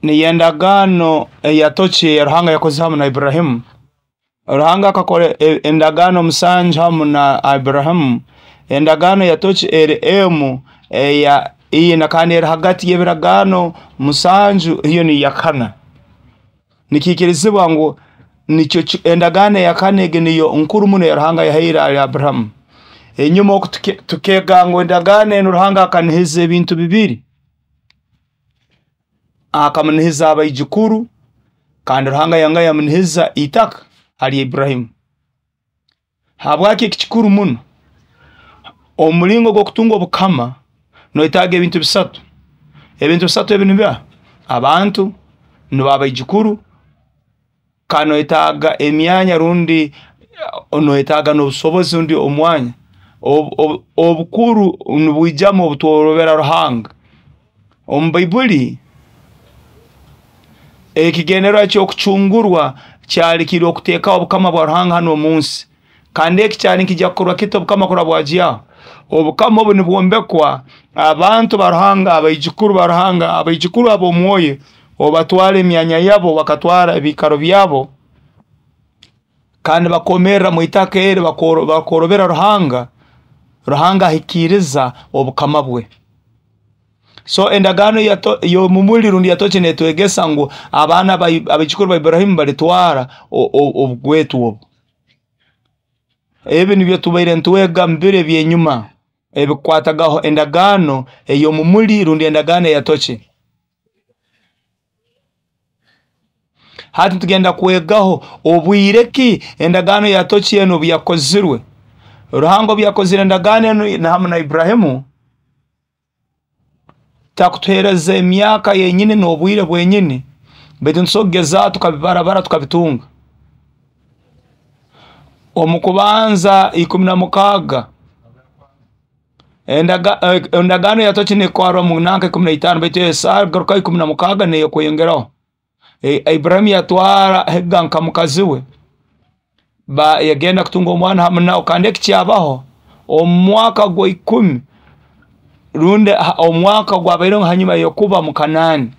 Niyo endagaano eyatoki eya Ruhanga yakoze hamu na Iburahimu. Ruhanga akakora endagaano 7 hamu na Iburahimu. Endagaano eyatoki eri emu eya ina kandi eri hagati y'ebiragaano 7, iyo niyo yakana. Nikiikirizibwa ngu nikyo endagaano eyakana egi niyo nkuru muno ya Ruhanga yahaire ali Aburahamu. Enyuma oku tukega ngu endagaano enu Ruhanga akanihiza ebintu bibiri. Akamunihiza abaijukuru, kandi Ruhanga yanga yamunihiza itaka hali Iburahimu. Habwaki eki kikuru muno? Omulingo gw'okutunga obukama noetaaga ebintu bisatu. Ebintu bisatu ebi nibiha? Abantu, nibo abaijukuru, kandi noetaaga emyanya rundi noetaaga n'obusobozi rundi omwanya. Obukuru nibwijamu obutworobera Ruhanga. Omu Baibuli, ekigendererwa ky'okucungurwa kyali kiri okuteekaho obukama bwa Ruhanga hanu omu nsi. Kandi eki kyali nikijya kukorwa kita obukama kuraba bwagyaho? Obukama obu nibwombekwa abantu ba Ruhanga, abaijukuru ba Ruhanga, abaijukuru ab'omwoyo, obatwara emyanya yabo, bakatwara ebiikaro byabo, kandi bakomerera mu itaka eri, bakorobera Ruhanga. Ruhanga ahikiriza obukama bwe. So endagaano y'omumuli rundi yatoki netwegesa ngu abaana abaijukuru ba Iburahimu balitwara obugwetwa obu. Ebi nibyo tubaire ntwega mu biro eby'enyuma ebikukwatagaho endagaano ey'omumuli rundi endagaano eyatoki. Hati tugenda kwegaho obwire ki endagaano yatoki enu obu yakozirwe. Ruhanga obu yakozire endagaano enu hamu na Iburahimu, takutuhereza emyaka yenyini n'obwire bwenyini, baitu nitusobora kugeza tukabibarabara tukabitunga. Omu kubanza 16, endagaano yatoki nekwarwa mu nanka 15, baitu esagaruka 16 neyo kweyongeraho. Iburahimu yatwara Hega nka mukazi we, yagenda kutunga omwana hamu nawe, kandi eki kyabaho omu mwaka gwa 10 rundi omwaka gwabaireho hanyuma y'okuba mu Kanaani.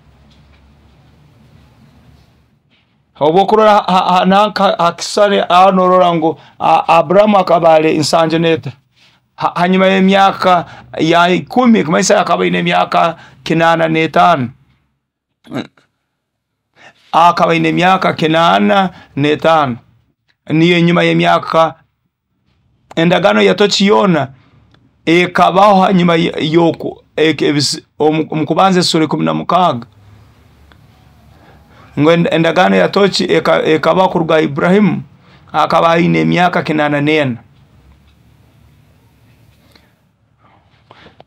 Obwokurora nanka hakisale aho norora ngu Aburahamu akaba ali nsanju n'eta. Hanyuma y'emyaka ya 10, kumanyisa akaba aine emyaka 85. Akaba aine emyaka 85. Niyo enyuma y'emyaka endagaano yatoki yoona ekabaho hanyuma y'oku omu kubanza esura 16. Ngu endagaano yatoki ekabaho kuruga Iburahimu akaba aine emyaka 84.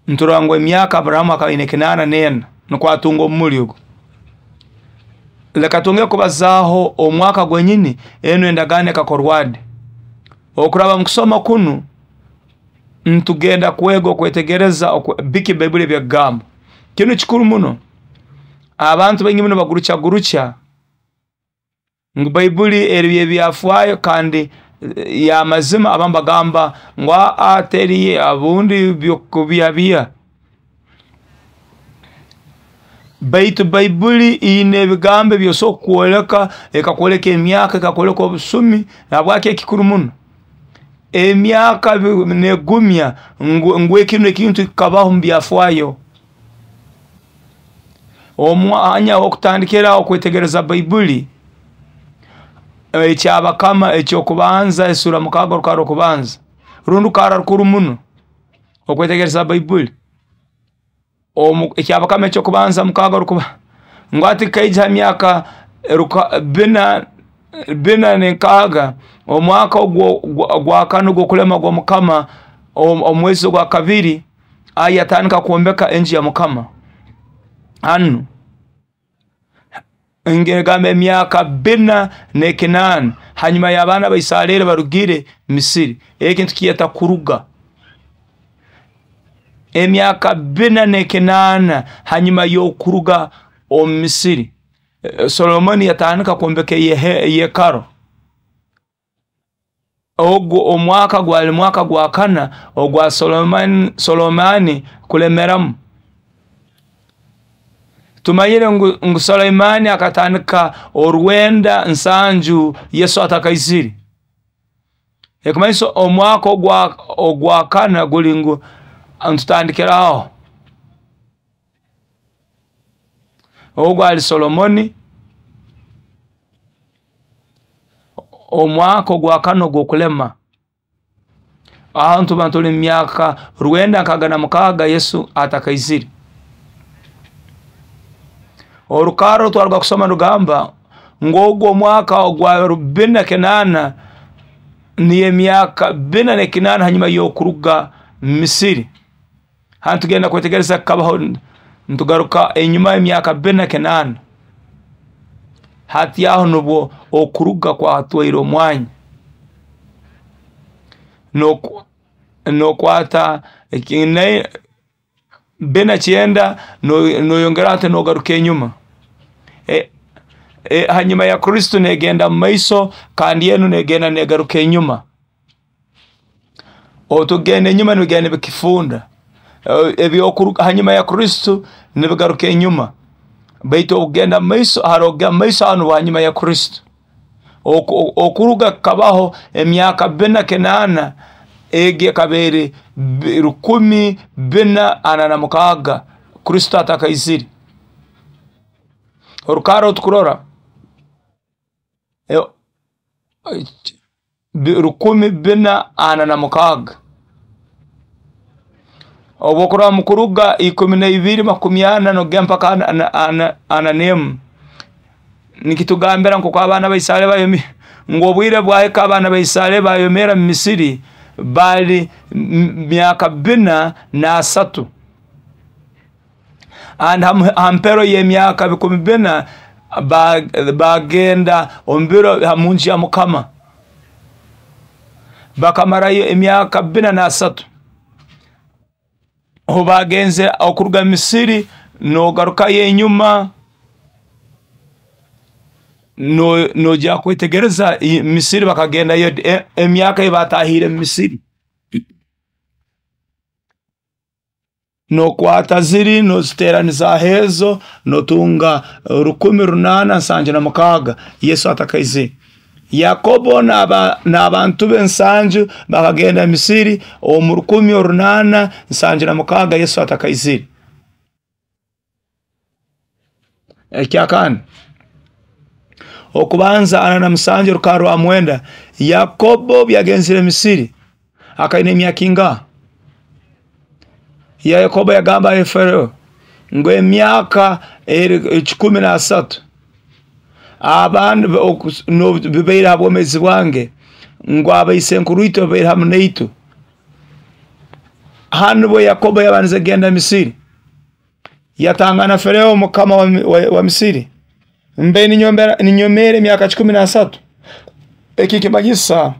Nturora ngu emyaka Aburahamu akaba aine 84 nukwo atunga omumuli ogu. Leka twongere kubazaaho omwaka gwenyini enu endagaano ekakorwa di. Okuraba mu kusoma kunu ntugenda kwega okwetegereza biki Baibuli ebyekugamba. Kinu kikuru muno. Abantu baingi muno bagurukyagurukya ngu Baibuli eri ebyafaayo kandi ya mazima. Abamu bagamba ngu teri abundi byokubyabiya. Baitu Baibuli ine ebigambo ebyosobola kukwoleka, ekakwoleka emyaka, ekakwoleka obusumi. Habwaki ekikuru muno? Emyaka negumya ngu ekinu ekintu kikabaho mu byafaayo. Omwanya w'okutandikira okwetegereza Baibuli ekyabakama ekyokubanza esura 6 orukara rw'okubanza rundi rukara rukuru muno okwetegereza Baibuli. Ekyabakama ekyokubanza 6 rukuba ngu ati kaija ha myaka 406 omwaka ogwa kane ogw'okulema gwa Mukama omwezi ogwa kabiri yatandika kwombeka enju ya Mukama. Hanu ngegamba emyaka 408 hanyuma y'abaana ba Isareri barugire Misiri. Eki ntukiyeta kuruga. Emyaka 408 hanyuma y'okuruga omu Misiri, Solomoni yatandika kwombeka eyekaro. Ogwo omwaka gwali mwaka gwa kana ogwa Solomani kulemeramu. Tumanyire ngu Suleimani akatandika 970 Yesu atakaizire. Ekumanyisa omwaka ogwa kana guli ngu ntutandikiraho. Ogwo ali Solomoni, omwaka ogwa kana ogw'okulema. Aho tuba tuli mu myaka 966 Yesu atakaizire. Orukaro twaruga kusoma rugamba ngu ogwo omwaka ogwa 48 niyo emyaka 48 hanyuma y'okuruga Misiri. Hanu tugenda kwetegereza kabaho ntugaruka enyuma emyaka 48. Hati aho nubwo okuruga kwatwaire omwanya. Nokwata 49 noyongera ati nogaruka enyuma. Hanyuma ya Kristo negenda mu maiso kandi enu negenda negaruka enyuma. Otugenda enyuma nibigenda bikifunda. Ebyokuruga hanyuma ya Kristo nibigaruka enyuma. Baitu okugenda mu maiso haroga mu maiso hanu hanyuma ya Kristo. Okuruga kabaho emyaka 48 egi ekabere 1446 Kristo atakaizire. Orukaro tukurora 1446 obwokurora mukuruga 12:40 nogenda mpaka 41 nikitugambira nkoku abaana ba Isareri bayomi ngu obwire bwahika abaana ba Isareri bayomera mu Misiri bali myaka 43 and hampero y'emyaka 400 bagenda omu biro munju ya Mukama bakamarayo emyaka 43. Obu bagenze okuruga Misiri nogarukayo enyuma nojya kwetegereza Misiri bakagendayo emyaka ebatahire mu Misiri. Nokwata ziri noziteraniza hezo notunga 1876 Yesu atakaizire. Yakobo n'abantu be 70 bakagenda Misiri omu 1876 Yesu atakaizire. Ekyakana okubanza 47 rukara rwa 9 Yakobo byagenzire Misiri akaina emyaka ingaha? Yakobo yagamba Farao ngu emyaka 13 abandi bibaire ha bwomezi bwange ngu abaisenkuru itwe babaire hamu naitwe. Hanu bwe Yakobo yabanze genda Misiri yatangana Farao mukama wa Misiri mbe ninyomera emyaka 13. Eki kimanyisa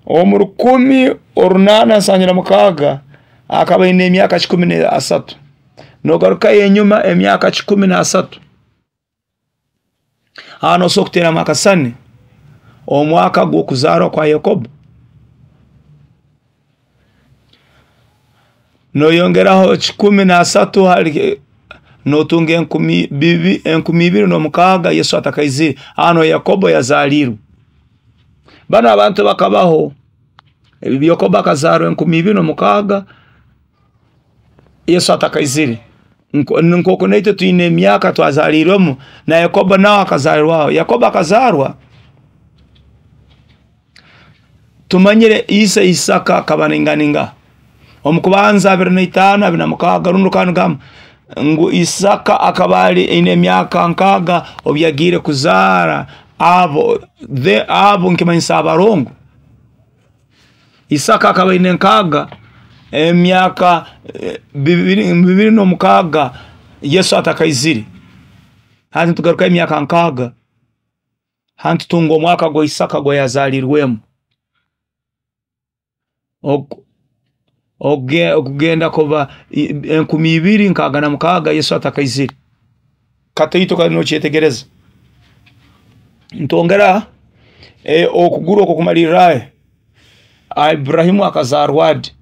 omu 1876 akaba aine emyaka 13. Nogarukayo enyuma emyaka 13. Hano osobola kuteeramu akasani omwaka gw'okuzarwa kwa Yakobo. Noyongeraho 13 hali notunga 2006 Yesu atakaizire. Hano Yakobo yazalirwe. Bano abantu bakabaho. Yakobo akazarwa 2006 Yesu atakaizire. Nk'oku naitwe twine emyaka twazalirwemu na Yakobo nawe akazarwaho. Yakobo akazarwa tumanyire ise Isaka akaba ninganinga omukubanza 25 26 rundi kanugamba ngu Isaka akaba ali ine emyaka 6 obu yagiire kuzaara abo nkimanyisa abarongo. Isaka akaba ine 6 emyaka 26 Yesu atakaizire. Hati tugaruka emyaka 6 hati tunga omwaka gwa Isaka gwa yazalirwemu. Okugenda kuba 2066 Yesu atakaizire. Kataito kali nokyetegereza. Ntongera okuguru okwo kumalirrayo. Ibrahimu akazarwa adi?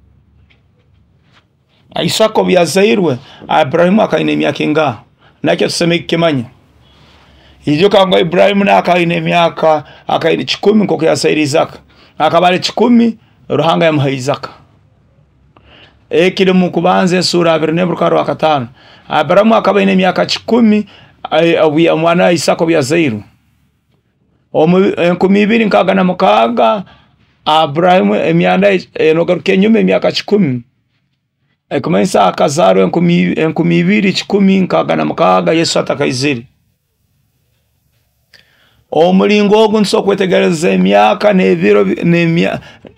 Isaka obu yazairwe Ibrahimu akaina emyaka ingaha? Nakyo tusemeriire kukimanya. Ijuka ngu Iburahimu nawe aine emyaka akaine 100 nk'oku yazaire Isaka. Akaba ali 10, Ruhanga yamuha Isaka. Ekiri mu Kubanza esura 21 5. Aburahamu akaba aine emyaka 10 omwana wa Isaka obu yazairwe. Omu 2066 Aburahamu emyanda enogaruka enyuma emyaka 10, ekumanyisa akazarwa 2166 Yesu atakaizire. Omulingo ogu ntusobora kwetegereza emyaka n'ebiro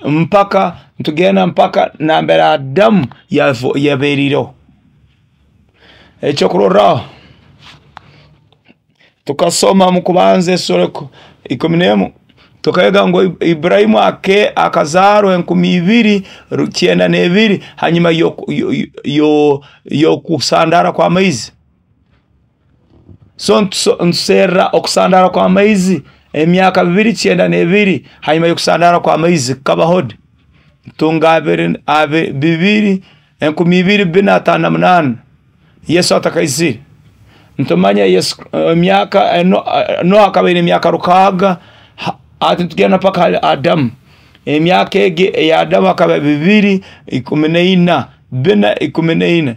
mpaka ntugenda mpaka nambere Adamu yaberireho. Ekyokurorraho, tukasoma mu Kubanza esura 11, tukayega ngu Iburahimu akazarwa 2092 hanyuma y'okusandara kw'amaizi. So ntuserra okusandara kw'amaizi emyaka 292 hanyuma y'okusandara kw'amaizi kabaho di? Tunga 2458 Yesu atakaizire. Ntumanya Yesu emyaka Noha akaba aine emyaka 600, ati tugenda mpaka hali Adamu. Emyaka egi eya Adamu akaba 214, 414.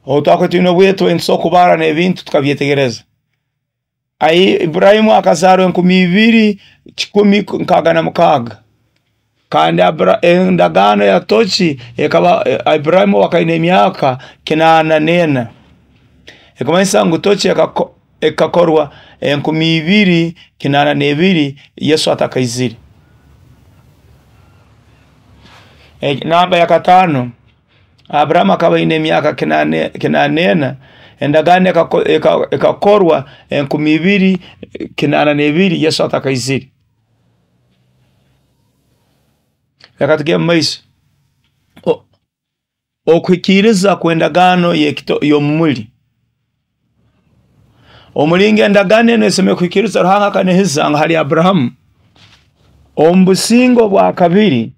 Obu twakuba twine obwetwe nitusobora kubara n'ebintu tukabyetegereza. Iburahimu akazarwa 2166, kandi endagaano ya toki ekaba Iburahimu akaine emyaka 84. Ekumanyisa ngu toki ekakorwa 2082 Yesu atakaizire. Namba ya 5, Aburahamu akaba aine emyaka 84, endagaano ekakorwa 2082 Yesu atakaizire. Reka tugende mu maiso. Okuhikiriza kw'endagaano y'omumuli. Omulingo endagaano enu esemeriire kuhikiriza, Ruhanga akanihiza ngu hali Aburahamu omu businge obwa kabiri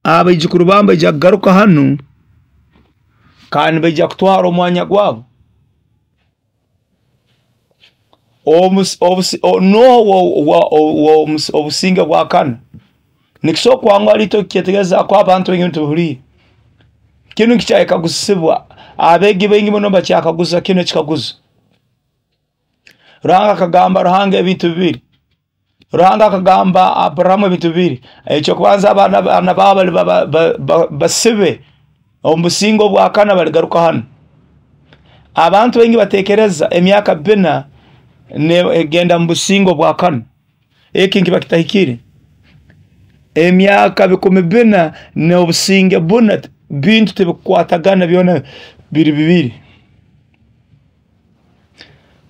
abaijukuru baabo baija kugaruka hanu kandi baija kutwara omwanya gwabo. Noha obusinge bwa kana? Nikisobora kwanguha itwe kukyetegereza ko abantu baingi tubihuliire. Kinu kikyayekaguzibwa, abeegi baingi muno bakyakaguza kinu ekikaguzo. Ruhanga akagamba Ruhanga ebintu bibiri. Ruhanga akagamba Aburahamu ebintu bibiri. Ekyokubanza, abaana baabo bali basibe omu businge obwa kana baligaruka hanu. Abantu baingi batekereza emyaka 4 egenda mu businge obwa kana. Eki nkiba kitahikire. Emyaka 4,000 n'obusinge buna bintu tibikukwatagana, byona biri bibiri.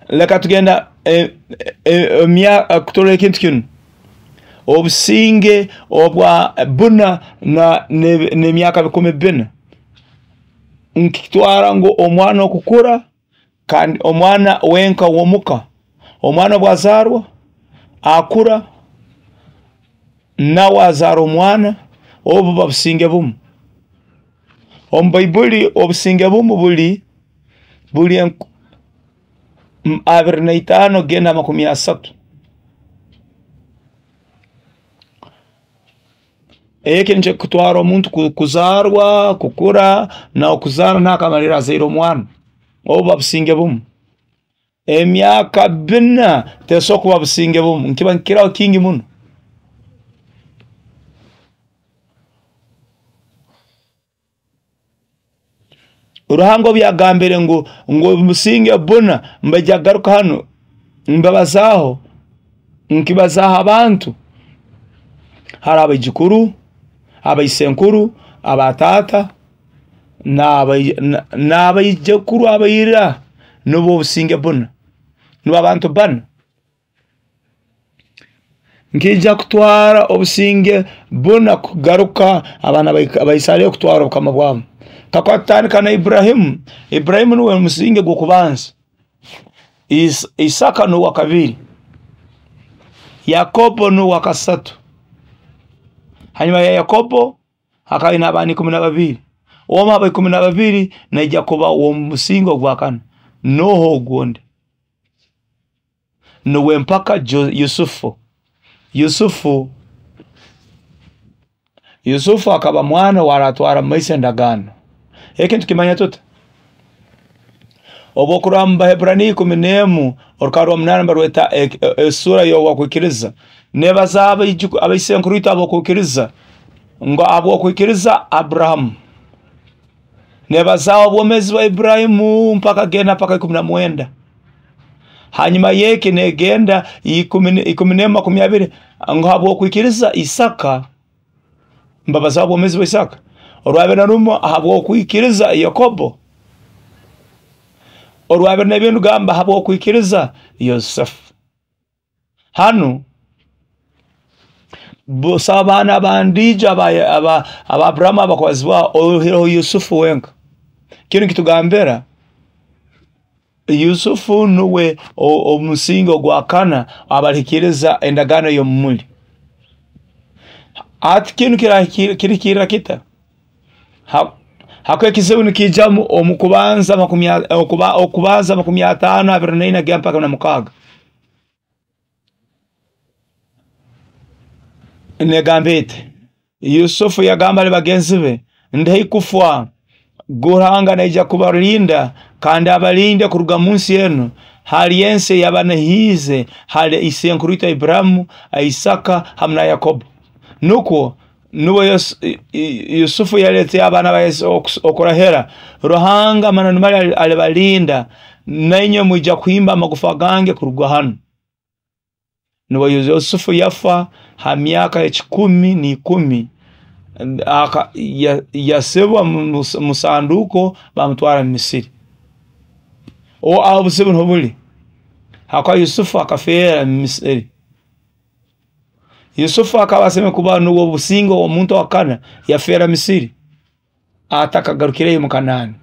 Leka tugenda kuturora ekintu kinu. Obusinge obwa buna n'emyaka 4,000 nkitwara ngu omwana okukura, kandi omwana wenka w'omuka, omwana obwazarwa akura nawe azara omwana, obu buba businge bumu. Omu Baibuli obusinge bumu buli 25 genda 30. Eki nikyo kutwara omuntu kuzarwa, kukura, na okuzara nakamalira azaire omwana. Obu buba businge bumu. Emyaka 4 tesobola kuba businge bumu, nkiba nkikiraho kingi muno. Ruhanga obu yagambire ngu obusinge buna mbaija kugaruka hanu, mbabazaho, nkibazaho abantu, hari abaijukuru, abaisenkuru, abatata, n'abaijukuru abaira, nubwo obusinge buna, nubwo abantu bana. Nkija kutwara obusinge buna kugaruka abaana ba Isirairi kutwara obukama bwabo. Kakuba tutandika na Iburahimu, Iburahimu nuwe musinge gw'okubanza, Isaka nuwe wa kabiri, Yakobo nuwe wa kasatu. Hanyuma ya Yakobo hakaba aine abaana 12. Omu aba 12 naija kuba w'omusingi ogwakana. Noho ogundi nuwe mpaka Yusufu. Yusufu akaba mwana waratwara mumaiso endagaano. Eki nitukimanya tuta? Obu okurora mu Baheburaniya 11 orukara rwa 8 barweta esura y'okwikiriza. Nebaza abaisenkuru itwe ab'okwikiriza ngu ab'okwikiriza Abrahamu. Nebaza obwomezi bwa Ibrahimu mpaka genda mpaka 19. Hanyuma yeki negenda 11:20 ngu habwokwikiriza Isaka. Mbabaza obwomezi bwa Isaka. Orwabere na rumo habwokwikiriza Yakobo. Orwabere na bintu gamba habwokwikiriza Yosefu. Hanu busabana bandija aba Abrahamu abakwazibwa ohireho Yusufu wenka. Kinu kitugambira Yusufu nuwe omusingi ogwakana abalihikiriza endagaano y'omumuli. Ati kinu kirihikirira kita? Hako ekizibu nikijamu omu kubanza 50 24 mpaka 6. Negamba eti Yusufu yagamba ali bagenzi be, ndihai kufa, Ruhanga naija kubalinda kandi abalinde kuruga munsi enu hali ensi yabanahiize hali isenkuru itwe Ibrahimu, Isaka hamu na Yakobo. Nukwo nuwe Yusufu yalete abaana ba Yesu okurahera Ruhanga mananumali alibalinda nainywe mwija kuhimba amagufa gange kuruga hanu. Nuwe Yusufu yafa ha myaka 110 yasibwa musanduko bamutwara mu Misiri. Aho obuzibu niho buli. Hakwa Yusufu akafeera mu Misiri. Yusufu akaba aseme kuba nuwe obusingo omuntu wakana yafeera Misiri atakagarukireyo mu Kanaani.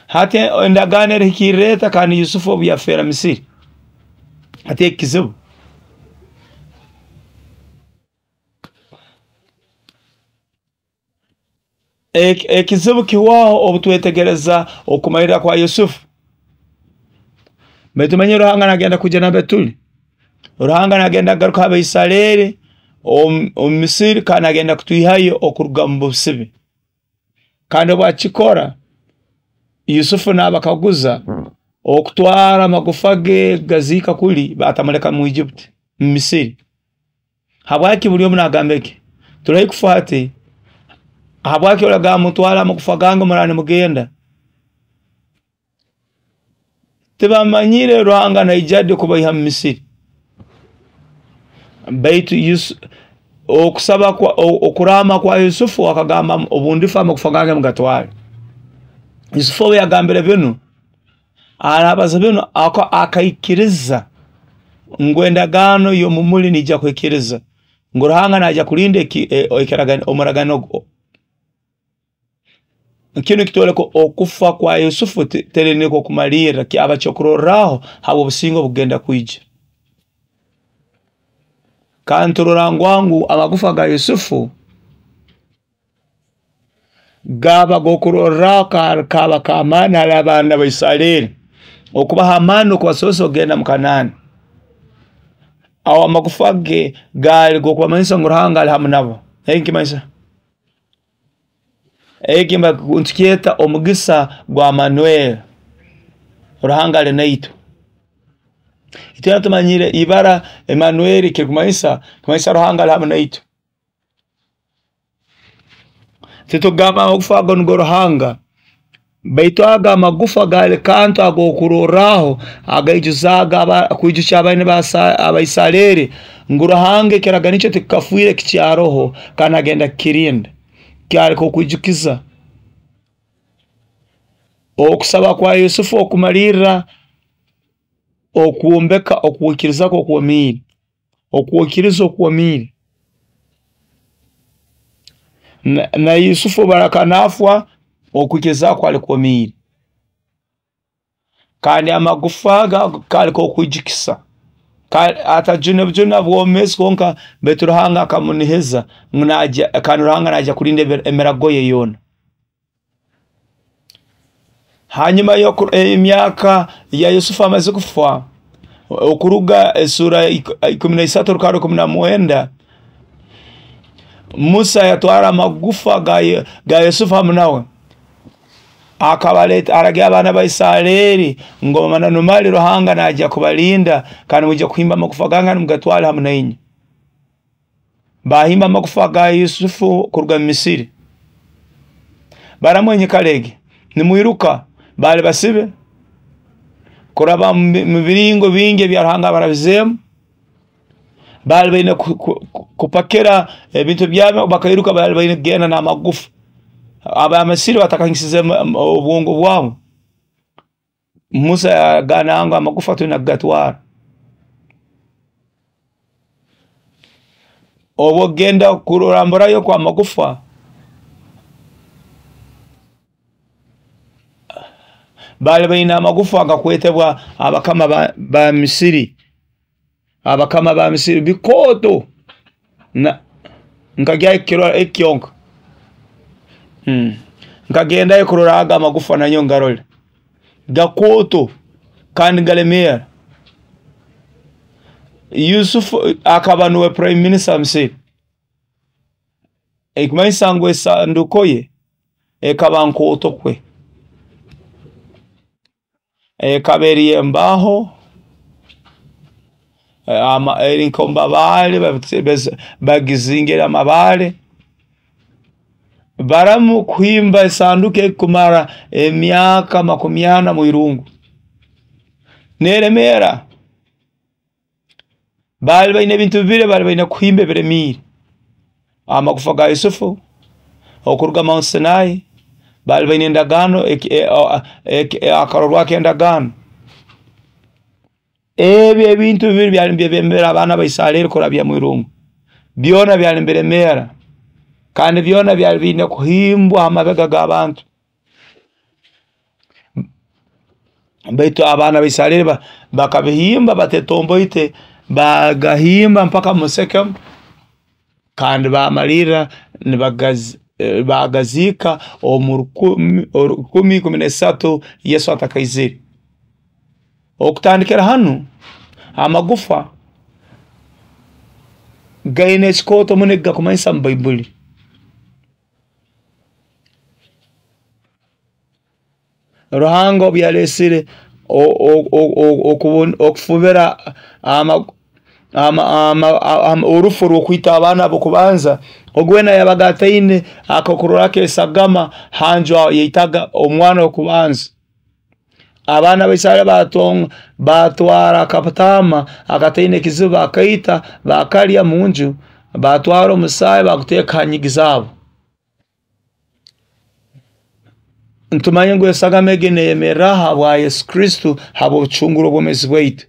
Hati endagaano erihikirira kandi Yusufu obu yafeera Misiri. Hati ekizibu ekizibu kiwaho obutwetegereza okumalira kwa Yusufu. Baitu manye Ruhanga nagenda kuja na Betuli. Ruhanga nagenda kugaruka Abaisareri omu Misiri kandi nagenda kutwihayo okuruga mu busibe. Kandi obwakikora Yusufu nabakaguza okutwara amagufa ge gaziika kuli batamuleka mu Egypt, mu Misiri. Habwaki buli omu nagamba eki? Turahi kufa hati. Habwaki oragamba mutwara amagufa gange murane mugenda? Tibamanyire Ruhanga naija kubaiha mu Misiri. Baitu okusaba kwa okurama kwa Yusufu akagamba obundifa amagufa gange mugatware. Yusufu yagambire binu arabaza binu akaikiriza ngu endagaano y'omumuli nija kwikiriza ngu Ruhanga naija kulinda omuragano. Kinu kitwoleka okufa kwa Yusufu teri niko kumalira kyaba kyokurorraho habw'obusinge obugenda kwija. Kandi turora ngu amagufa ga Yusufu gaba gokurorraho kaba k'amaani hali abaana ba Isareri okubaha amaani okubasobosa okugenda mu Kanaani. Aho amagufa ge gaali g'okubamanyisa ngu Ruhanga ali hamu nabo. Eki eki ntukyeta omugisa gwa Manuel. Ruhanga ali naitwe. Itwena tumanyire ibara Emanueli kirikumanyisa kumanyisa Ruhanga ali hamu naitwe. Titugamba amagufa ago nigo Ruhanga, baitu aga amagufa gali kantu ag'okurorraho agaijuzaga kwijukya abaana Abaisareri ngu Ruhanga ekiragano ekyo tikikafiire kikyaroho kandi agenda kukirinda. Kyaleka okwijukiza okusaba kwa Yusufu okumalirra okwombeka okwikiriza kwe okwomiire, okwikiriza okwomiire. Na Yusufu barakanaafwa okwikiriza kwali kwomiire. Kandi amagufa gaali kokwijukisa. Atajune bujuna bwomezi kwonka, baitu Ruhanga akamunihiza ngu naija, kandi Ruhanga naija kulinda emirago ye yoona. Hanyuma y'emyaka ya Yusufu amaze kufa, okuruga esura 13 rukara 19, Musa yatwara amagufa ga Yusufu hamu nawe. Akabaleta, aragira abaana ba Isareri ngu amananu mali Ruhanga naija kubalinda, kandi mwija kuhimba amagufa gange mugatwale hamu nainywe. Bahimba amagufa ga Yusufu kuruga mu Misiri. Baramwenye kalege nimwiruka, bali basibe kuraba mu biringo bingi ebya Ruhanga abarabizemu. Bali baine kupakira ebintu byabo bakairuka, bali baine kugenda n'amagufa. Abamisiri batakahingisize obwongo bwabo. Musa yagana ngu amagufa tulina kugatwara. Obwo kugenda kuramburayo kwa magufa, bali baine amagufa agakwetebwa abakama ba Misiri. Abakama ba Misiri bikooto nkagyayo kukirora ekyonka. Nkagendayo kurora aga amagufa nanyo ngarole. Gakooto kandi galemeera. Yusufu akaba nuwe prime minister wa Misiri. Ekumanyisa ngu esanduko ye ekaba nkooto kwe. Ekaba eri embaho, eri nk'omumabaale, bagizingire amabaale. Baramu kuhimba esanduku ekumara emyaka 40 mu irungu. Neremeera. Bali baine ebintu bibiri bali baine kuhimba ebiremiire. Amagufa ga Yusufu okuruga Mount Sinai, bali baine endagaano, akarorwako endagaano. Ebyo ebintu bibiri byali nibyebembera abaana ba Isareri kurabya mu irungu. Byona byali nibiremeera, kandi byona byali biine kuhimbwa ha mabega g'abantu. Baitu abaana ba Isareri bakabihimba batetomboite, bagahimba mpaka mu Sekemu, kandi bamalirra bagaziika omu 1013 Yesu atakaizire. Okutandikira hanu amagufa gaine ekikooto muno ekigakumanyisa mu Baibuli. Ruhanga obu yalesire okufubira orufu rw'okwita abaana b'okubanza, ogu weena yabaga ataine akakurorako esagama hanju aho yaitaga omwana w'okubanza. Abaana ba Isareri batwara akataama akataine ekizibu, bakaita, bakalya munju, batwara omusaayi baguteeka ha nyigi zaabo. Ntumanye ngu esagama egi neyemerra habwa Yesu Kristo, habw'obucunguro obwomezi bwaitu.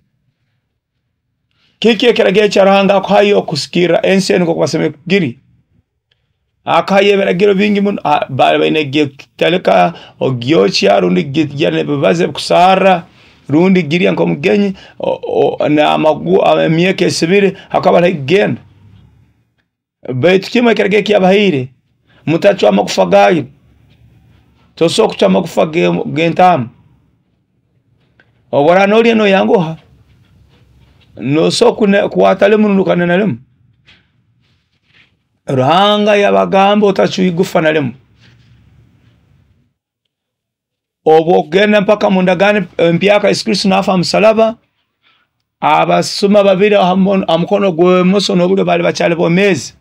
Kiki ekiragiro kya Ruhanga akuhayo okusikirra ensi enu nk'oku basemeriire kugiri? Akahayo ebiragiro bingi muno. Bali baine kugitalika, ogyokya, rundi girya n'ebibazi ebikusarra, rundi girya nk'omugenyi emyaka esibire hakaba hariho kugenda. Baitu kimu ekiragiro ekiyabahaire, mutacwa amagufa gayo. Tosobola kucwa amagufa g'entaama. Obu oraaba nolya noyanguha, nosobola kukwata limu rundi okanena limu. Ruhanga yabagamba otacwa igufa na limu. Obu okugenda mpaka mu ndagaano empyaka Yesu Kristo naafa ha musalaba, abasuma babiri ha mukono gw'emoso n'obulyo bali bakyali bomeezi.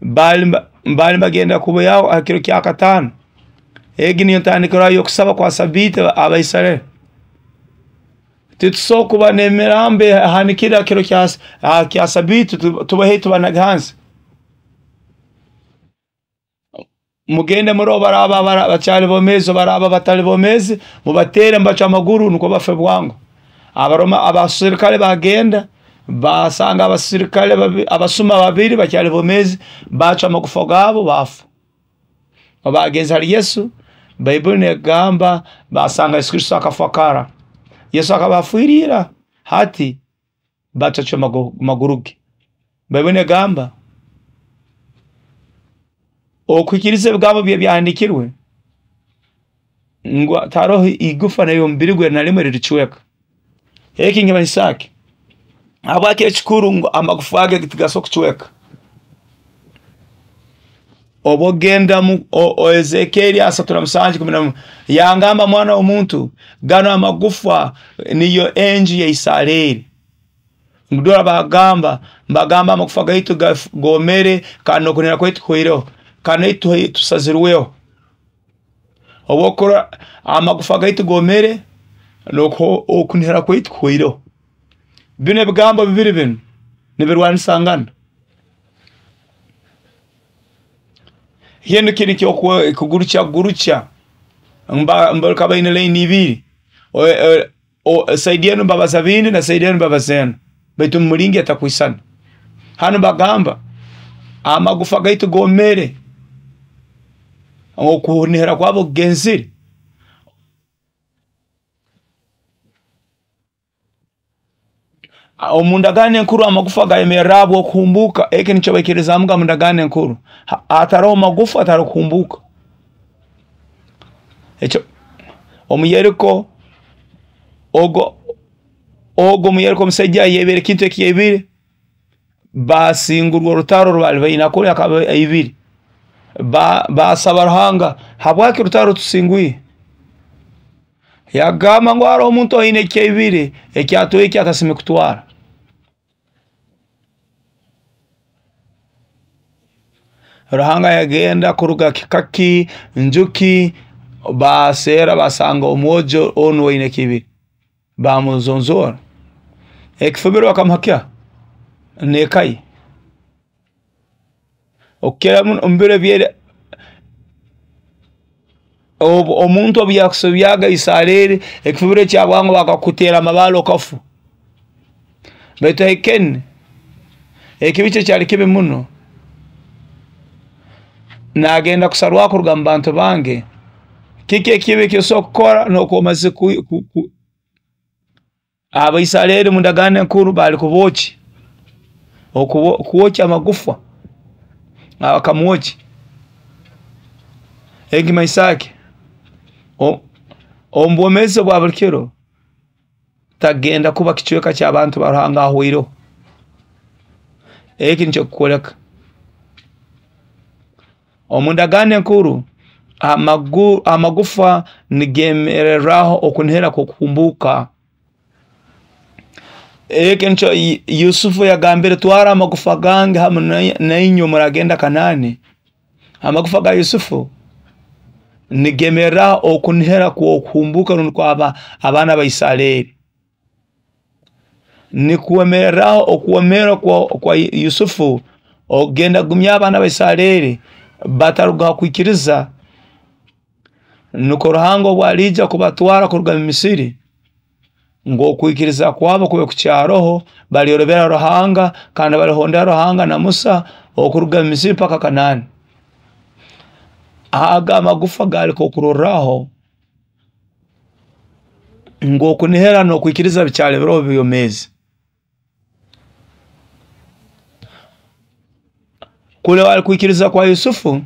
Bali bagenda kubayaho ha kiro kya kataano. Egi niyo ntandikirwaho y'okusaba kwa sabiiti Abaisareri. Titusobola kuba n'emirambo ehanikire ha kiro kya sabiiti, tubahe tubanage hansi. Mugende murole baraaba bakyali bomeezi baraaba batali bomeezi, mubateere mubacwe amaguru nukwo bafe bwangu. Abaroma abasirikale bagenda basanga abasirikale abasuma babiri bakyali bomeezi, bacwa amagufa gaabo bafa. Bagenze hali Yesu, Baibuli negamba basanga Yesu Kristo akafa kara. Yesu akaba afwire ira. Hati Batacwa maguru ge. Baibuli negamba okuhikiriza ebigambo bye byahandikirwe ngu taroho igufa nayo omubiri gwe na rimwe riricweka. Eki nkimanyisa ki? Habwaki ekikuru ngu amagufa ge tigasobola kucweka? Obu ogenda mu Ezekieri 37:11, yangamba, mwana w'omuntu, gano amagufa niyo enju ya Isareri. Dora bagamba amagufa gaitu gomere, kandi nokunihira kwaitu kuhweireho, kandi naitwe tusazirweho. Obwokora amagufa gaitu gomere, okunihira kwaitu kuhweireho. Bino ebigambo bibiri binu nibirwanisangana. Hino kiri kugurukya gurukya, mbarika baine laini ibiri, saidi enu mbabaza bindi na saidi enu mbabaza enu, baitu mumulingi etakwisana. Hanu bagamba amagufa gaitu gomere, okunihira kwabo kugenzire. Omu ndagaano enkuru amagufa gayemerra okuhumbuka. Eki nikyo baikirizamuga mu ndagaano enkuru. Hataroho magufa ataroho kuhumbuka. Ekyo omu Yeriko, ogo omu Yeriko omusaija yebere ekintu eki yebire, basingurwa orutaro rwali baine akuli akaba aibire. Basaba Ruhanga, habwaki orutaro tusingwire? Yagamba ngu haroho omuntu aine ekyaibire ekyatwaire ekyatasime kutwara. Ruhanga yagenda kuruga kikaki njuki, baseera basanga omwojo onu oine kibiri, bamuzonzora ekifubiro bakamuha nekaye. Okukira muno omu biro ebyera, omuntu obu yakusobyaga Isareri, ekifubiro ekyabwangu bakakutera amabale okafu. Baitu Ekeni ekibi kye kyali kibi muno, nagenda kusarwaho kuruga mu bantu bange. Kiki ekibi ekyosobola kukora nokwo omaze Abaisareri mu ndagaano enkuru bali kubokya, kwokya amagufa bakamwokya. Ekimanyisa ki? Omu bwomeezi bwa buli kiro tagenda kuba kicweka ky'abantu ba Ruhanga ahweireho. Eki nikyo kukwoleka. Omu ndagaano enkuru amagufa nigemereraho okunihira kw'okuhumbuka. Eki nikyo Yusufu yagambire, twara amagufa gange hamu nainywe muragenda Kanaani. Amagufa ga Yusufu nigemereraho okunihira kw'okuhumbuka rundi abaana ba Isareri. Nikwemereraho okwomera kwa Yusufu okugenda kugumya abaana ba Isareri bataruga kwikiriza, nukwo Ruhanga obu aliija kubatwara kuruga mu Misiri, ngu okwikiriza kwabo kube kukyaroho, balyorobera Ruhanga kandi balihondera Ruhanga na Musa okuruga mu Misiri paka Kanaani. Aga amagufa gali kokurorraho ngu okunihira n'okwikiriza bikyali biroho byomezi. Kule wali kwikiriza kwa Yusufu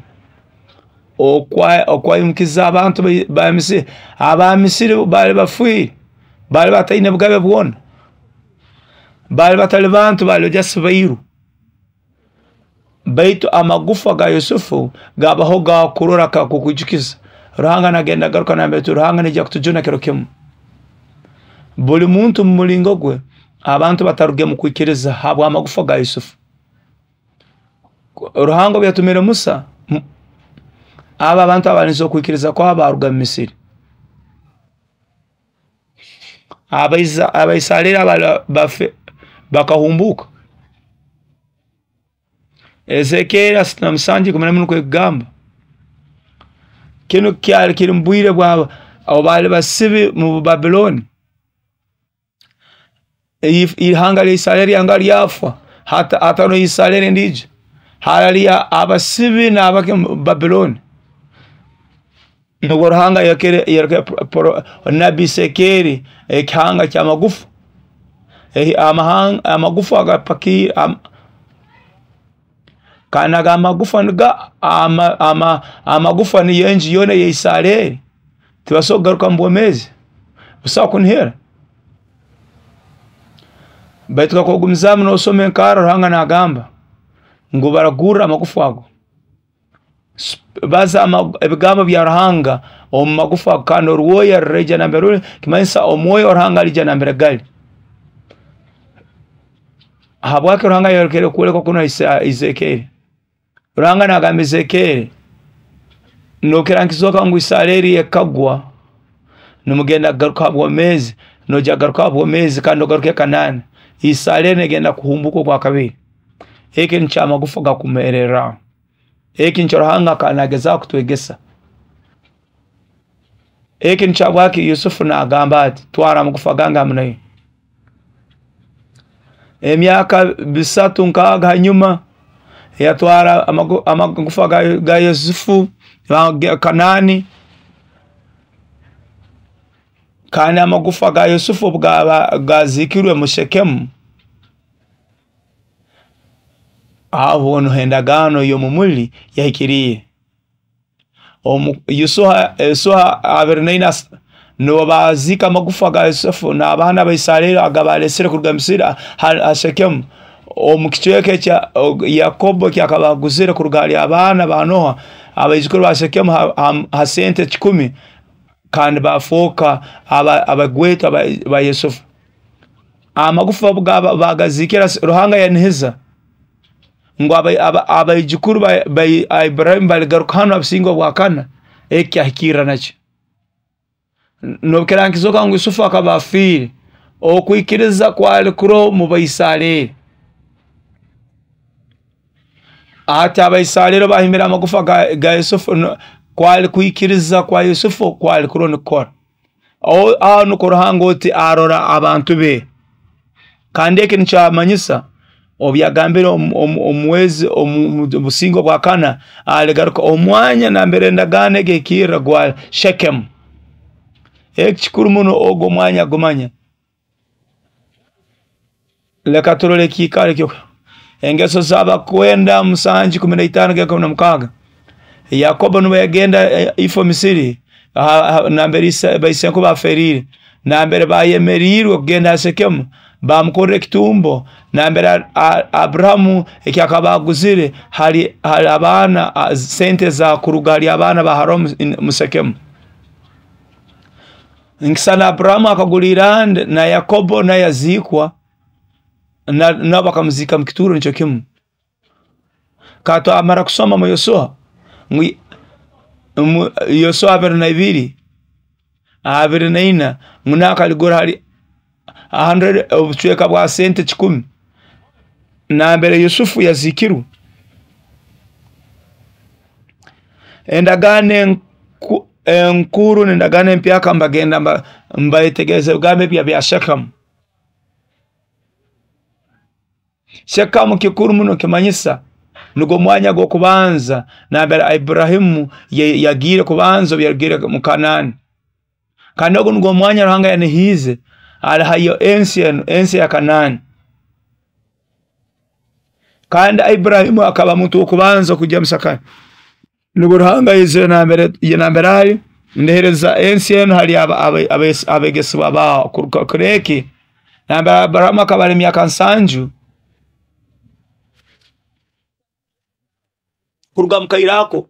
okwaimukiza abantu ba Misiri. Aba Misiri bali bafwire, bali bataine bugabe bwona, bali batali bantu, bali just bairu. Baitu amagufa ga Yusufu gabaho gakurora kakukwijukiza Ruhanga nagenda garuka nambere Ruhanga nija kutujuna kiro kimu. Buli muntu mu mulingo gwe, abantu bataruge mu kwikiriza habwa amagufa ga Yusufu. Ruhanga obu yatumire Musa, aba abantu abalinze okwikiriza kwabo baruga mu Misiri. Abaisareri abafe bakahumbuka. Ezekieri 37:14 nukwo ekugamba. Kinu kyali kiri mu bwire bwa abo bali basibi mu Babiloni. Ihanga lya Isareri yanga lyafwa, hata no Isareri ndijo harali abasibi n'abake mu Babiloni. Nubwo Ruhanga yakere nabi Ezekieri ekihanga ky'amagufa. Amagufa agapakire kandi aga amagufa niga amagufa niyo enju yoona eya Isareri, tibasobora kugaruka mu bwomeezi, busaho kunihira. Baitu kakuba ogumizaamu nosoma enkarra, Ruhanga nagamba ngu baragurra amagufa ago. Baza ebigambo bya Ruhanga omu magufa ago, kandi orwoya ruraija nambere ruli, kimanyisa omwoyo wa Ruhanga aliija nambere gali. Habwaki Ruhanga yayolekere okwolekwa kunu Ezekieri? Ruhanga nagamba Ezekieri, nokira nkizooka ngu Isareri ekagwa, nimugenda kugaruka ha bwomeezi, noija kugaruka ha bwomeezi kandi ogaruke Kanaani. Isareri negenda kuhumbuka ogwakabiri. Eki nikyo amagufa gakumererraho. Eki nikyo Ruhanga akaba nagezaho kutwegesa. Eki nikyo habwaki Yusufu nagamba ati, twara amagufa gange hamu naiwe. Emyaka 306 hanyuma yatwara amagufa ga Yusufu Kanaani, kandi amagufa ga Yusufu obu gazikirwe mu Shekemu, aho niho endagaano y'omumuli yahikiriire. Yosuha 24 nibo baziika amagufa ga Yusufu n'abaana ba Isareri agabalesere kuruga Misiri ha Shekemu, omu kicweka ekya Yakobo kyakaba aguzire kuruga hali abaana ba Noha, abaijukuru ba Shekemu ha sente 10, kandi bafooka abagwetwa ba Yusufu. Amagufa obu bagazikira, Ruhanga yanihiza ngu abaijukuru ba Iburahimu baligaruka hanu abusinge obwakana, eki kyahikirra nakyo. Nobukira nkizoka ngu Yusufu akaba afiire, okwikiriza kwali kuroho mu Baisareri. Ati Abaisareri bahimbire amagufa ga Yusufu, kwali kwikiriza kwa Yusufu kwali kuroho nikukora. Aho nukwo Ruhanga oti arora abantu be. Kandi eki nikyamanyisa obu yagambire omwezi omu businge obwakana aligaruka omwanya nambere endagaano egi ehikirra gwa Shekemu. Eki kikuru muno ogwo omwanya gumanya. Leka turole ekiikaro ekyo. Engeso z'abakwenda 7:15-16. Yakobo nuwe yagenda ifo Misiri, nambere baisenkuba baferiire, nambere bayemeriirwe kugenda ha Shekemu, bamukorra ekitumbo nambere Aburahamu ekyakaba aguzire hali abaana sente za kuruga hali abaana ba Haramu mu Shekemu. Nkisana Aburahamu akagura irande na Yakobo naye yaziikwa, nabo bakamuzika mu kituuro nikyo kimu. Katwamara kusoma mu Yosuha, Yosuha 22 24 ngu nakaligura hali 100 obucweka bwa sente 10 nambere Yusufu yazikirwe. Endagaano enkuru n'endagaano empyaka mbagenda mbayetegereza ebigambo ebya bya Shekemu. Shekemu kikuru muno, kimanyisa nugwo mwanya gw'okubanza nambere Iburahimu yagiire kubanza obu yarugire mu Kanaani. Kandi ogu nugwo mwanya Ruhanga yanihiize alihayo ensi enu, ensi ya Kanaani. Kandi Iburahimu akaba muntu w'okubanza kujya mu Sakani. Nubwo Ruhanga yaizire nambere ali, ndehereza ensi enu hali abegesibwa bawe. Kuruga nambere Aburahamu akaba ali emyaka 70 kuruga mu kaire ako.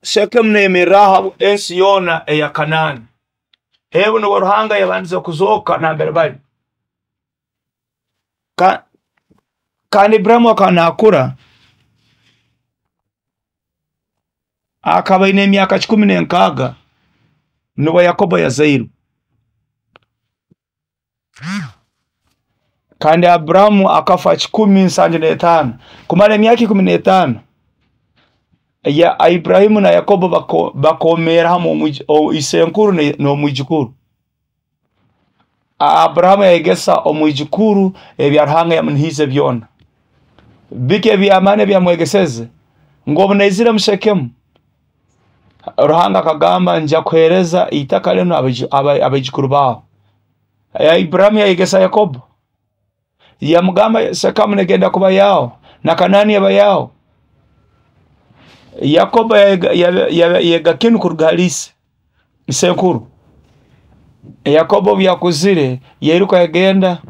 Shekemu neyemerraho ensi yoona eya Kanaani. Ebu nubwo Ruhanga yabandize kuzooka nambere bali. Kandi Iburahimu akaba nakura, akaba aine emyaka 106 nubwo Yakobo yazairwe. Kandi Aburahamu akafa 175, kumara emyaka 15 ya Iburahimu na Yakobo bakomera hamu isenkuru n'omwijukuru. Aburahamu yayegesa omwijukuru ebya Ruhanga yamunihiize byona. Biki eby'amaani ebyamwegeseze? Ngu obu naizire mu Shekemu, Ruhanga akagamba nja kuhereza itaka lino abaijukuru bawe. Iburahimu yayegesa Yakobo, yamugamba Shekemu negenda kuba yao na Kanani yaba yao. Yakobo yega kinu kuruga hali ise isenkuru. Yakobo obu yakuzire yairuka yagenda.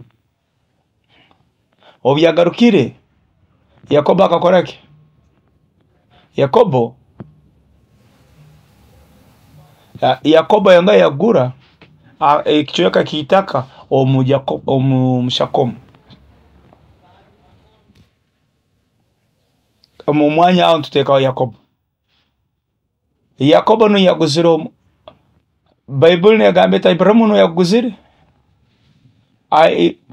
Obu yagarukire Yakobo akakora ki? Yakobo yanga yagura ekicweka kiitaka omu Shakomu, omu mwanya aho nituteekaho Yakobo. Yakobo nu yaguzire, Baibuli negamba eti Iburahimu nu yaguzire.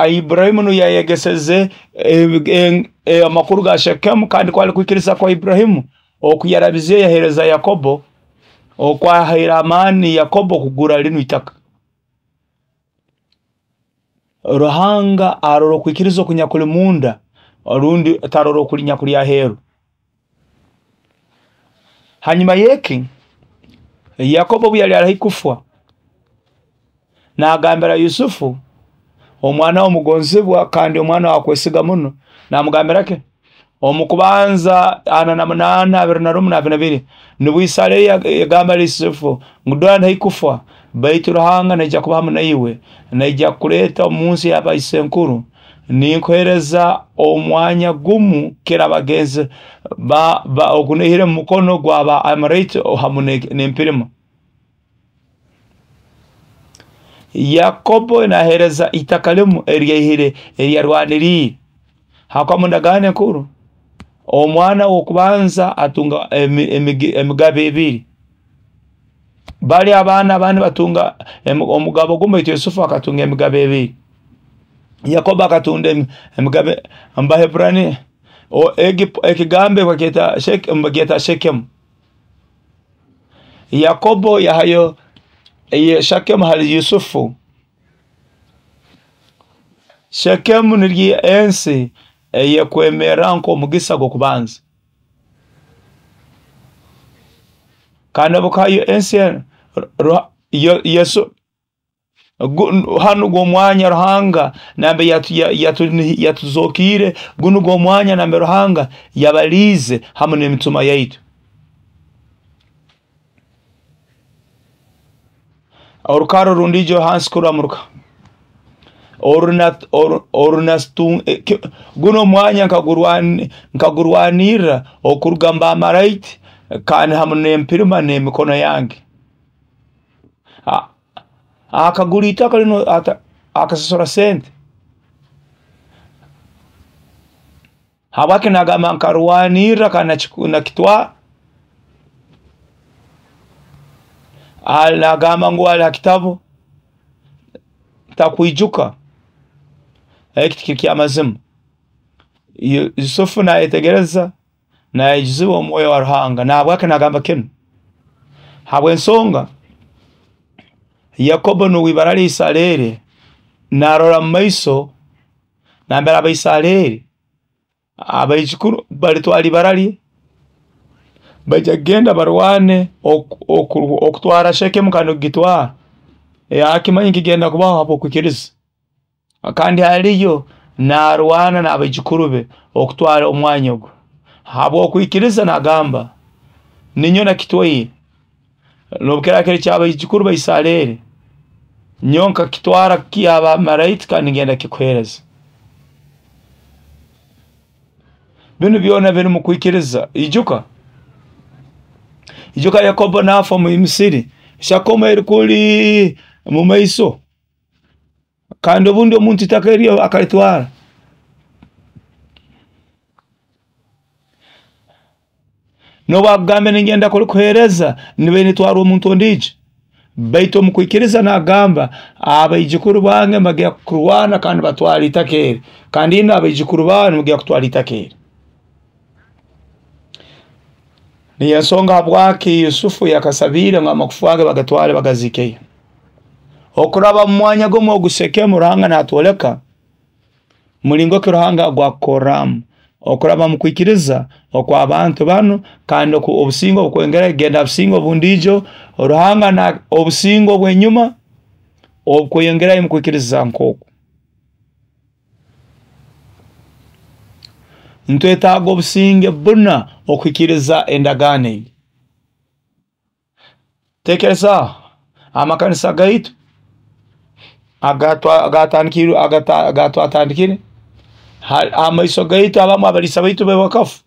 Iburahimu nu yayegeseze amakuru ga Shekemu, kandi kwali kwikiriza kwa Iburahimu okuyarabize yahereza Yakobo, okwahaire amaani Yakobo kugura linu itaka. Ruhanga arora okwikiriza okunyakuli munda, orundi tarora okuli nyakuli aheeru. Hanyuma yeki Yakobo obu yali ali kufa, nagambira Yusufu omwana omugonzibwa kandi omwana wakwesiga muno, namugambira ki? Omu kubanza 48 21 22 nibwo Isareri yagamba Yusufu ngu dora ndi kufa, baitu Ruhanga naija kuba hamu naiwe, naija kukuleta omu nsi y'abaisenkuru, ninkuhereza omwanya gumu kira abagenzi ogunihire mu mukono gwaba Amorite hamu n'empirima. Yakobo nahereza itaka limu eryaihire eryarwaniriire. Hakuba mu ndagaano enkuru omwana w'okubanza atunga emigabo ebiri, bali abaana abandi batunga omugabo gumu, baitu Yusufu akatunga emigabo ebiri. Yakobo akatunda emigabo Abaheburani ekigambo bakyeta Shekemu. Yakobo yahayo Shekemu hali Yusufu. Shekemu niryo ensi eyekwemera nk'omugisa gw'okubanza, kandi obukayo ensi Yesu hanu gw'omwanya Ruhanga nambe yatuzokire, gunu gw'omwanya nambe Ruhanga yabaliize hamu n'emitima yaitu. Orukaro rundijo hansi kuramuruka guno omwanya nkagurwanirra okuruga mbamaraiti kandi hamu n'empirima n'emikono yange. Akagura itaka lino akasasura sente. Habwaki nagamba nkarwanirra kandi nakitwara? Nagamba ngu ali ha kitabu takwijuka eki tikiri kyamazima. Yusufu nayetegereza, nayejuzibwa omwoyo wa Ruhanga. Nahabwaki nagamba kinu? Habw'ensonga Yakobo nuwe ibara lye Isareri, narora mu maiso nambere Abaisareri abaijukuru balitwara ibara lye, baija kugenda barwane okutwara Shekemu kandi okugitwara. Akimanyi kigenda kubaho habw'okwikiriza, kandi haliyo narwana n'abaijukuru be okutwara omwanya ogwo habw'okwikiriza. Nagamba ninyo nakitwaire, nobukira kiri ky'abaijukuru ba Isareri, nyowe nkakitwara ky'abamaraiti kandi ngenda kikuhereza. Binu byona biri mu kwikiriza. Ijuka Yakobo nafa omu Misiri, Shekemu eri kuli mu maiso, kandi obundi omuntu itaka eryo akalitwara. Nobwakugamba ningenda kulikuhereza, nibe nitwara omuntu ondijo. Baitu omu kwikiriza nagamba abaijukuru bange mbagya kurwana kandi batwara itaka eri, kandi ino abaijukuru bawe nibagya kutwara itaka eri. Niyo ensonga habwaki Yusufu yakasabire ngu amagufa ge bagatware bagazikeyo. Okuraba mu mwanya gumu ogu Shekemu, Ruhanga natwoleka mulingo ki Ruhanga gwakukorramu. Okuraba mu kwikiriza okw'abantu banu, kandi obusinge obukwongera genda businge obundiijo Ruhanga na obusinge obw'enyuma obukweyongerayo mu kwikiriza nk'oku. Ntwetaaga obusinge buna okuhikiriza endagaano egi. Tekerezaaho amakanisa gaitu agatwatandikire amaiso gaitu, abamu abaliisa baitu bakafa.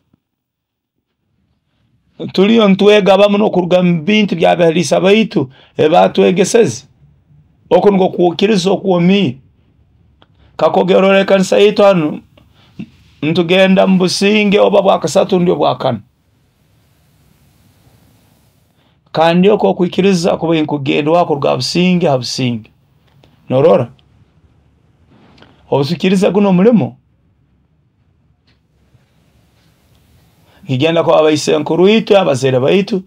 Tuliyo ntwega abamu n'okuruga mu bintu by'abaliisa baitu ebatwegeseze. Oku nikwo kwikiriza okwomiire. Kakugerora ekanisa yaitu hanu, ntugenda mu businge oba bwakasatu rundi obwakana. Kandi okwo okwikiriza kuba nkugendwaho kuruga businge ha businge. Norora? Obutukiriza guno omulimo, nkigenda kuba abaisenkuru itwe, abazaire baitu,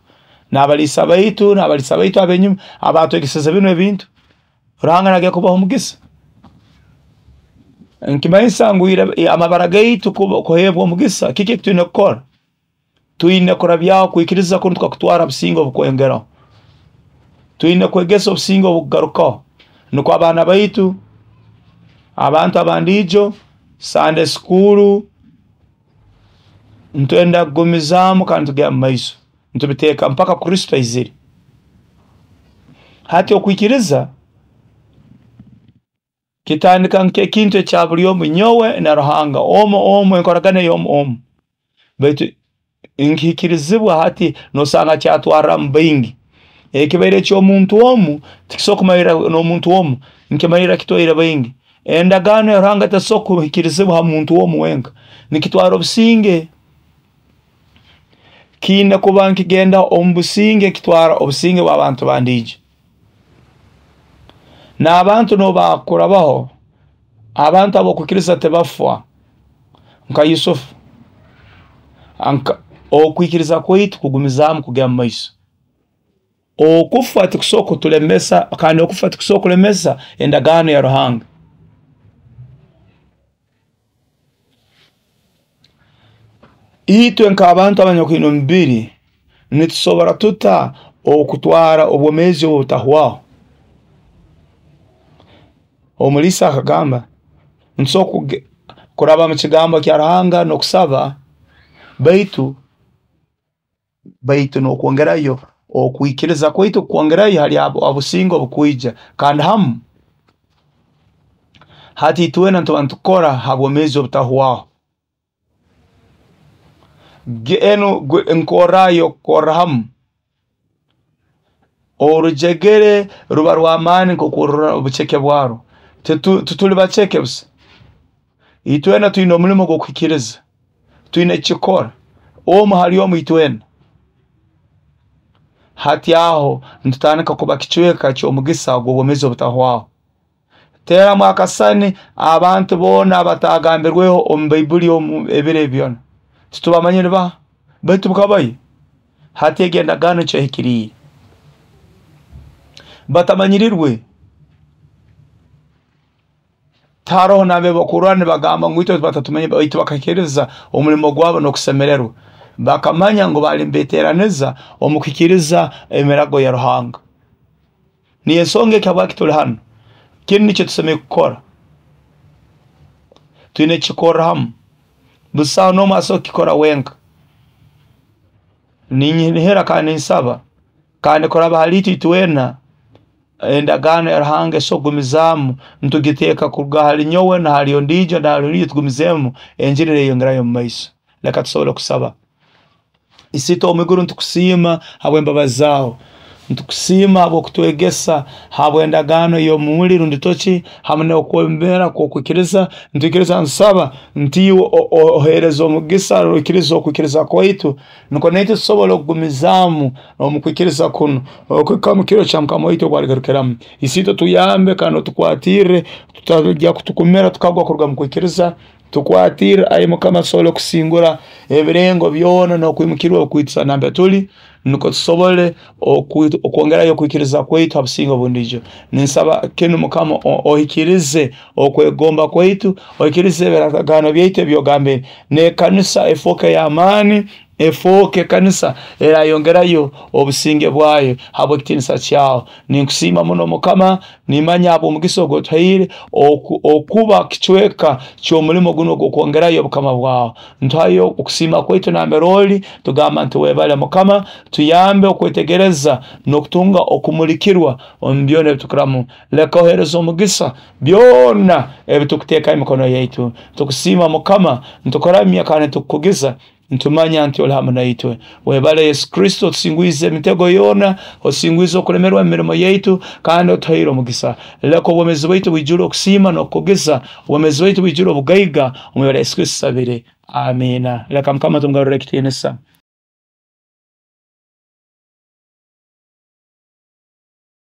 n'abaliisa baitu, n'abaliisa baitu ab'enyuma abatwegeseze binu ebintu. Ruhanga nagenda kubaha omugisa. Nkimanyisa ngu amabara gaitu kuheebwa omugisa, kiki ekitwine kukora? Twine kurabyaho kwikiriza kunu tukakutwara businge obukwongeraho. Twine kwegesa obusinge obukugarukaho. Nukwo abaana baitu, abantu abandiijo, Sunday school, ntwenda kugumizaamu kandi tugenda mu maiso. Ntubiteeka mpaka Kristo aizire. Hati okwikiriza kitandika nk'ekintu ekya buli omu, nyowe na Ruhanga, omu omu, enkoragana ey'omu omu. Baitu nkihikirizibwa hati nosanga kyatwarramu baingi. Ekibaire eky'omuntu omu tikisobora kumalirra n'omuntu omu, nkimalirra kitwaire baingi. Endagaano ya Ruhanga tesobola kuhikirizibwa ha muntu omu wenka, nikitwara obusinge. Kiine kuba nkigenda omu businge, kitwara obusinge bw'abantu bandiijo. N'abantu n'obakurabaho, abantu ab'okwikiriza tibafwa nka Yusufu. Okwikiriza kwaitu kugumizaamu kugenda mu maiso. Okufa tikusobola kutulemesa, kandi okufa tikusobola kulemesa endagaano ya Ruhanga. Itwe nk'abantu abanyakwine omubiri nitusobora tuta okutwara obwomeezi obu obutahwaho? Omuliisa akagamba nitusobora kuraba mu kigambo kya Ruhanga n'okusaba, baitu n'okwongerayo okwikiriza kwaitu kwongerayo hali obusinge obukwija, kandi hamu hati itwena nituba nitukora ha bwomeezi obutahwaho. Enu nkorrayo kukorra hamu. Orujegere ruba rw'amaani nk'okurora obuceke bwarwo. Tituli baceke busa. Itwena twine omulimo gw'okuhikiriza. Twine kukikora. Omu hali omu itwena. Hati aho nitutandika kuba kicweka ky'omugisa ogw'obwomeezi obutahwaho. Teeramu akasani abantu boona abatagambirweho omu Baibuli omu ebiro ebi byona. Titubamanyire baha, baitu bukabayo. Hati egi endagaano kyehikiriire. Batamanyirirwe. Tiharoho nambere bakurora nibagamba ngu itwe batatumanye, baitu bakahikiriza omulimo gwabo n'okusemererwa. Bakamanya ngu baali nibeeteraniza omu kuhikiriza emirago ya Ruhanga. Niyo ensonga eki habwaki tuli hanu. Kinu nikyo tusemeriire kukora. Twine kukikorra hamu. Busaho n'omu asobora kukikora wenka. Ninihira kandi ninsaba, kandi kuraba hali itwe itwena, endagaano ya Ruhanga esobora kugumizaamu, nitugiteeka kuruga hali nyowe na hali ondiijo na hali ondiijo, tugumizeemu enjiri neyeyongerayo omu maiso. Leka tusobole kusaba. Isiitwe ow'omu iguru, nitukusiima habw'embabazi zaawe. Nitukusiima habw'okutwegesa, habw'endagaano y'omuli rundi toki, hamu n'okwemera kw'okwikiriza. Nitwikiriza nsaba nti iwe oheereze omugisa oikirize okwikiriza kwaitu, nukwo naitwe tusobole okugumizaamu omu kwikiriza kunu okuhika mu kiro kya Mukama waitu obu aligarukiramu. Isiitwe tuyambe kandi otukwatirre, tutajya kutukumira tukagwa kuruga mu kwikiriza. Tukwatirre, ai Mukama, tusobole okusingura ebirengo byona n'okwimukirwa okwitisa nambere tuli, nukwo tusobole okwongerayo okwikiriza kwaitu ha businge obundiijo. Ninsaba kinu, Mukama, ohikirize okwegomba kwaitu, ohikirize ebiragaano byaitu ebyogambire, n'ekanisa efooke y'amaani, efooke ekanisa erayongerayo obusinge bwayo habw'ekitiinisa kyawe. Ninkusiima muno, Mukama, nimanya habw'omugisa ogu otuhaire okuba kicweka ky'omulimo guno ogw'okwongerayo obukama bwawe. Ntuhayo okusiima kwaitu nambere oli, tugamba nti webale, Mukama. Tuyambe okwetegereza n'okutunga okumulikirwa omu byona ebitukuramu. Leka ohereza omugisa byona ebitukuteekaho emikono yaitu. Tukusiima, Mukama, ntukuramya kandi tukukugiza, ntumanya nti oli hamu naitwe. Webale, Yesu Kristo, otusingwize emitego yoona, osingwize okulemerwa emirimo yaitu, kandi otuhaire omugisa. Leka obwomeezi bwaitu bwijule okusiima n'okukugiza, obwomeezi bwaitu bwijule obugaiga. Omu ibara Yesu Kristo tusabire, amiina. Leka Mukama tumugarurire ekitiinisa.